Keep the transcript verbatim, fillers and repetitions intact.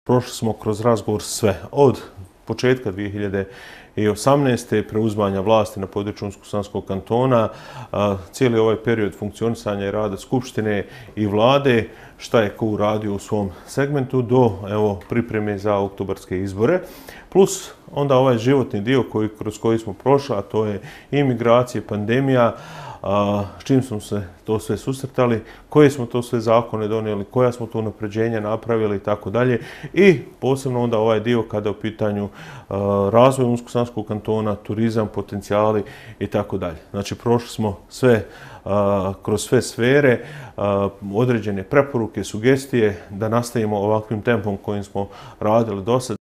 Prošli smo kroz razgovor sve, od početka dvije hiljade osamnaeste. preuzimanja vlasti na području Unsko-sanskog kantona, cijeli ovaj period funkcionisanja i rada Skupštine i vlade, šta je ko uradio u svom segmentu, do evo, pripreme za oktobarske izbore, plus onda ovaj životni dio koji, kroz koji smo prošli, a to je imigracije, pandemija, a, s čim smo se to sve susretali, koje smo to sve zakone donijeli, koja smo to unapređenja napravili i tako dalje. I posebno onda ovaj dio kada je u pitanju a, razvoj Unsko-sanskog kantona, turizam, potencijali i tako dalje. Znači prošli smo sve a, kroz sve sfere, a, određene preporuke, sugestije da nastavimo ovakvim tempom kojim smo radili do sad.